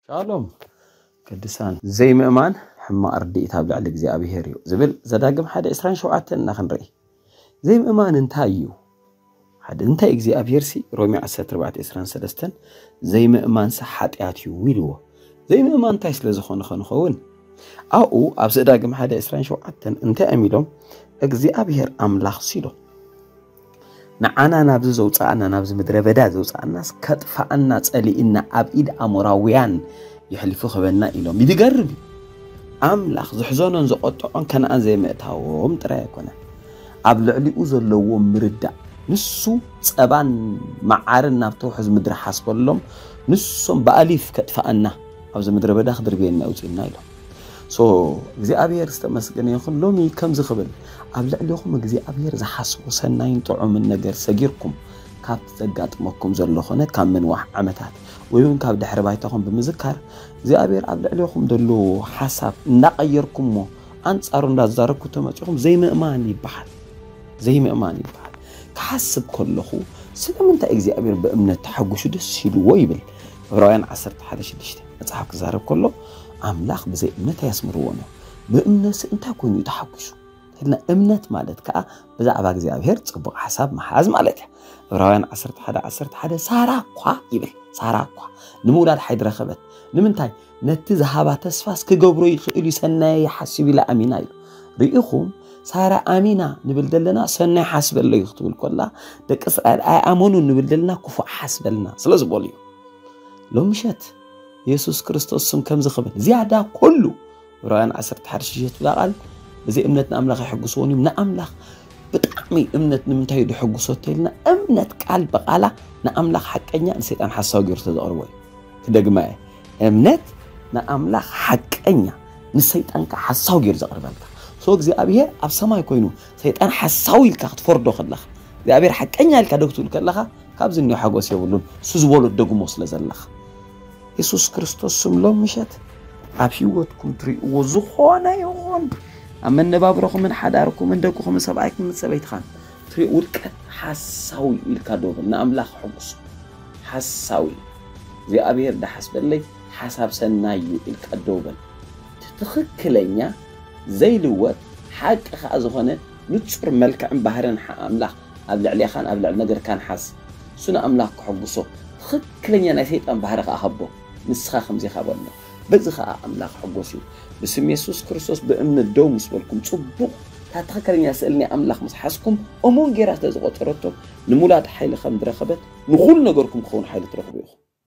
ሻሎም ቅዱሳን። ዘይምእማን ሕማቕ ርድኢት ኣብ ልዕሊ እግዚኣብሔር እዩ ዝብል ዘዳግም ሓደ ዕስራን ሸውዓተን እና ክንርኢ። ዘይምእማን እንታይ እዩ? ሓደ እንታይ እግዚኣብሔር ሲ ሮሜ ዓሰርተ ኣርባዕተ ዕስራን ሰለስተን ዘይምእማን ሲ ሓጢኣት እዩ ኢልዎ። ዘይምእማን እንታይ ስለ ዝኾነ ኸንኸውን ኣብኡ ኣብ ዘዳግም ሓደ ዕስራን ሸውዓተን እንታይ እዮም ኢሎም? እግዚኣብሔር ኣምላኽ ሲሎ ንዓና ናብዚ ዘውፅኣና ናብዚ ምድረ በዳ ዘውፅኣናስ ከጥፋኣና ፀሊእና ኣብ ኢድ ኣሞራውያን ይሕልፉ ክበና ኢሎም። ይድገርም እዩ። ኣምላኽ ዝሕዘኖን ዘቆጥዖን ከነኣን ዘይምእታዎም ጥራይ ኣይኮነን፣ ኣብ ልዕሊኡ ዘለዎም ምርዳእ። ንሱ ጸባን መዓርን ናብ ተውሕዝ ምድሪ ሓስበሎም፣ ንሶም ብኣሊፍ ከጥፋኣና ኣብዚ ምድረ በዳ ክድርብየና ይውፅእና ኢሎም። ሶ እግዚኣብሔር ዝተመስገነ ይኹን። ሎሚ ከምዚ ክብል ኣብ ልዕሊኹም እግዚኣብሔር ዝሓስቦ ሰናይን ጥዑምን ነገር ሰጊርኩም ካብ ዘጋጥመኩም ዘሎ ኮነ ካብ ምንዋሕ ዓመታት ወይ እውን ካብ ድሕሪ ባይታኹም ብምዝካር እግዚኣብሔር ኣብ ልዕሊኹም ዘሎ ሓሳብ እንዳቐየርኩሞ ኣንጻሩ እንዳዛረብኩ ተመፂኹም ዘይምእማን ይበሃል። ዘይምእማን ይበሃል። ክሓስብ ከለኹ ስለምንታይ እግዚኣብሔር ብእምነት ተሓጒሱ ደስ ኢልዎ ይብል። ዕብራውያን ዓሰርተ ሓደ ሽዱሽተ መጽሓፍ ክዛረብ ከሎ ኣምላኽ ብዘይ እምነት ኣያስምርዎን እዩ። ብእምነትሲ እንታይ ኮይኑ እዩ ተሓጒሱ? ኢልና እምነት ማለት ከዓ ብዛዕባ እግዚኣብሔር ጽቡቕ ሓሳብ ምሓዝ ማለት እዩ። ዕብራውያን ዓሰርተ ሓደ ዓሰርተ ሓደ ሳራ እኳ ይብል፣ ሳራ እኳ ንምውላድ ሓይድ ረኸበት። ንምንታይ? ነቲ ዝሃባ ተስፋስ ክገብሮ ይኽእል እዩ፣ ሰናየ ይሓስብ ኢላ ኣሚና ኢሉ። ርኢኹም፣ ሳራ ኣሚና ንብል ዘለና ሰናይ ሓስበለይ ክትብል ከላ ደቂ እስራኤል ኣይኣመኑን ንብል ዘለና ክፉእ ሓስበልና ስለ ዝበሉ እዩ። ሎም ምሸት የሱስ ክርስቶስ ስም ከምዚ ክብል ዝያዳ ኩሉ ዕብራውያን ዓሰርተ ሓደ ሽዱሽተ ትብላ ቃል ብዘይ እምነት ንኣምላኽ ኣይሕግስዎን እዩ። ንኣምላኽ ብጣዕሚ እምነት ንምንታይ እዩ ድሕግሶ ተይልና እምነት ቃል ብቃላ ንኣምላኽ ሓቀኛ ንሰይጣን ሓሳዊ ገይሩ ተዘቕርቦ እዩ። ክደግማ እየ። እምነት ንኣምላኽ ሓቀኛ ንሰይጣን ከዓ ሓሳዊ ገይሩ ዘቕርበልካ። ሶ እግዚኣብሔር ኣብ ሰማይ ኮይኑ ሰይጣን ሓሳዊ ኢልካ ክትፈርዶ ከለኻ እግዚኣብሔር ሓቀኛ ኢልካ ደው ክትብል ከለኻ ካብዚ እኒኦ ሓጎስ የብሉን። እሱ ዝበሎ ደግሞ ስለ ዘለኻ የሱስ ክርስቶስ ስም ሎም ምሸት ኣብ ህይወትኩም ትሪእዎ ዝኾነ ይኹን ኣብ መነባብሮኹምን ሓዳርኩምን ደቅኹምን ሰብኣይኩምን ሰበይትኻን ትሪእ ውድቀት ሓሳዊ ኢልካ ደው በል። ንኣምላኽ ሕጉስ ሓሳዊ እግዚኣብሔር ዳሓስበለይ ሓሳብ ሰናይ እዩ ኢልካ ደው በል። ትኽክለኛ ዘይልወጥ ሓቂ ከዓ ዝኾነ ንጹር መልክዕን ባህርን ሓ- ኣምላኽ ኣብ ልዕሌኻን ኣብ ልዕሊ ነገርካን ሓዝ። እሱ ንኣምላኽ ክሕጉሶ ትኽክለኛ ናይ ሰይጣን ባህሪ ከዓ ሃቦ። ንስኻ ከምዚ ኢኻ በሎ። በዚ ከዓ ኣምላኽ ሕጎስ እዩ። ብስም የሱስ ክርስቶስ ብእምነት ደው ምስ በልኩም ጽቡቕ እታ ትኽክለኛ ስእሊ ናይ ኣምላኽ ምስ ሓዝኩም እሙን ጌራ ስለ ዝቖጸረቶ ንምውላድ ሓይሊ ከም ዝረኸበት ንኹሉ ነገርኩም ክኸውን ሓይሊ ትረኽቡ ኢኹም።